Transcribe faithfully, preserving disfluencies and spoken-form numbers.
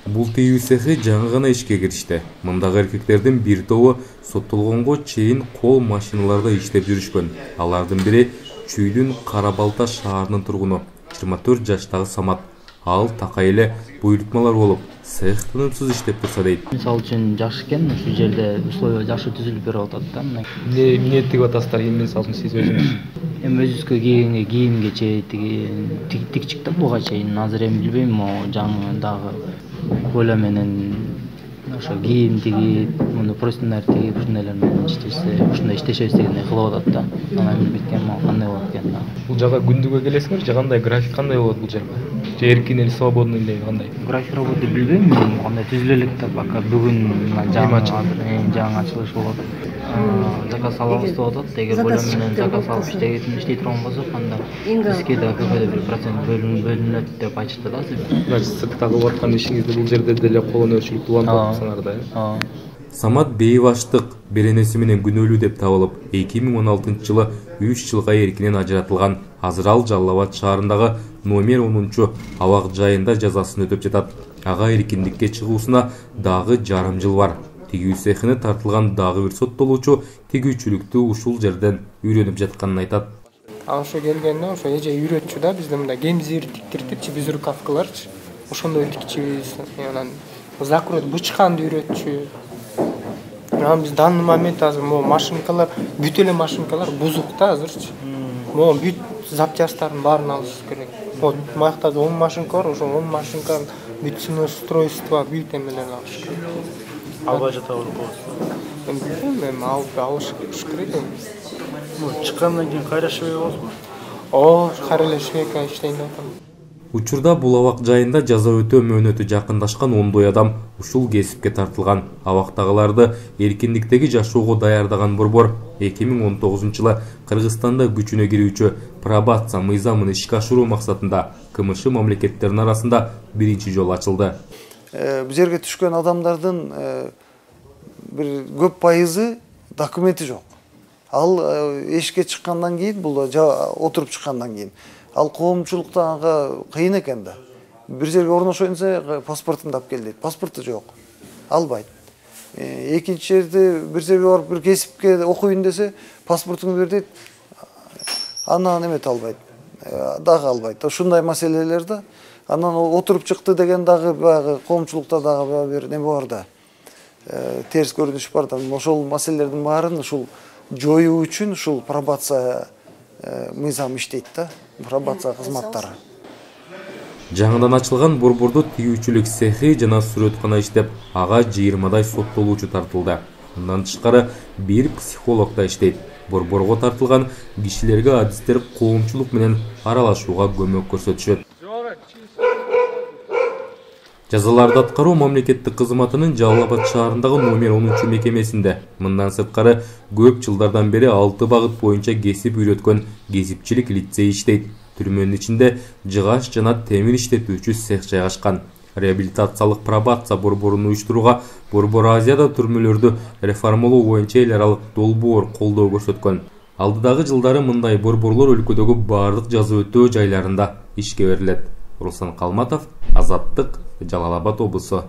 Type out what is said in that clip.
Бул тигүү цехи жаңы гана ишке киришти. Мындагы эркектердин бир тобу соттолгонго чейин кол машиналарда иштеп жүрүшкөн. Алардын бири Чүйдүн Кара Балта шаарынын тургуну жыйырма төрт жаштагы Самат. Ал такай эле буйрутмалар болуп, цех тынымсыз иштеп турса дейт. Мисалы үчүн жакшы экен, ушул жерде условия жакшы түзүлүп берип атат да. Эмне эмне тигип атасыздар, эми мисалы үчүн сиз өзүңүз? Эми өзүбүзгө кийгенге кийимге чейин тиги тик чыкты буга чейин. Азыр эми билбейм, могу жаңы дагы коля менен ошо кийим тигип, муну простындар тигип, ушундайлар менен иштесе, ушундай иштешебиз дегендей кылып атат да. Анан билбейт экен, могу кандай болот экен да. Бул жака күндүгө келесиңер же кандай, график кандай болот бул жерде? Же эркин эле свободный эле кандай? График работы билбейм, кандай түзүлө элек да, пока бүгүн жаңы жаңы ачылыш болот. Заказ алабыз деп атат. Эгер коля менен заказ алып иштей турган болсок, анда бизге да көбөдө бир процент бөлүнөт деп айтышты да. Значит, сырттагы кылып аткан ишиңизди бул жерде деле кол өнөрчүлүктү улантып атсаңар да, э? Самат бейбаштык беренеси менен күнөөлүү деп табылып, эки миң он алтынчы жылы үч жылга эркинен ажыратылган. Азыр ал Жалал Абад шаарындагы номер онунчу абак жайында жазасын өтөп жатат. Ага эркиндикке чыгуусуна дагы жарым жыл бар. Тигүү цехине тартылган дагы бир соттолуучу тигүүчүлүктү ушул жерден үйрөнүп жатканын айтат. А ошо келгенде ошо эже үйрөтчү да, бизде мындай кемзир тиктиртипчи, биз рукавкаларчы. Ошондой тикчибиз. Анан закройт бычканды үйрөтчү. Анан биз данный момент азыр могу машинкалар, бүт эле машинкалар бузук да азырчы. Могу бүт запчастарын баарын алыш керек. Вот маякта он машинка бар, ошо он машинканын бүт устройство, бүт эмелерин алыш керек. Албай жата болот. Эми билбейм, эми алып алыш керек. Чыккандан кийин кайра швей болосузбу? О, кайра эле швейка иштейин деп атам. Учурда бул абак жайында жаза өтөө мөөнөтү жакындашкан ондой адам ушул кесипке тартылган. Абактагыларды эркиндиктеги жашоого даярдаган борбор эки миң он тогузунчу жылы Кыргызстанда күчүнө кирүүчү пробация мыйзамын ишке ашыруу максатында КМШ мамлекеттеринин арасында биринчи жолу ачылды. Бул жерге түшкөн адамдардын бир көп пайызы документи жок. Ал эшикке чыккандан кийин, бул отуруп чыккандан кийин ал коомчулукта ага кыйын экен да. Бир жерге орношоюн десе паспортун алып кел дейт. Паспорту жок. Албайт. Экинчи жерде бир жерге барып бир кесипке окуйун десе паспортуңду бер дейт. Анан эмет албайт. Дагы албайт. Ушундай маселелер да. Анан отуруп чыкты деген дагы баягы коомчулукта дагы бир неме бар да. Терс көрүнүш бар да. Ошол маселелердин баарын ушул жоюу үчүн ушул пробация мыйзам иштейт да. Пробация кызматтары. Жаңыдан ачылган борбордо тигүүчүлүк цехи жана сүрөткана иштеп, ага жыйырмадай соттолуучу тартылды. Мындан тышкары бир психолог да иштейт. Борборго тартылган кишилерге адистер коомчулук менен аралашууга көмөк көрсөтүшөт. Жазаларды аткаруу мамлекеттик кызматынын Жалал Абад шаарындагы номер онунчу мекемесинде мындан сырткары көп жылдардан бери алты багыт боюнча кесип үйрөткөн кесипчилик лицей иштейт. Түрмөнүн ичинде жыгач жана темир иштетүүчү цех жайгашкан. Реабилитациялык пробация борборун уюштурууга Борбор Азияда түрмөлөрдү реформалоо боюнча эл аралык долбоор колдоо көрсөткөн. Алдыдагы жылдары мындай борборлор өлкөдөгү бардык жаза өтөө жайларында ишке берилет. Руслан Калматов, Азаттык, Жалал Абад облусу.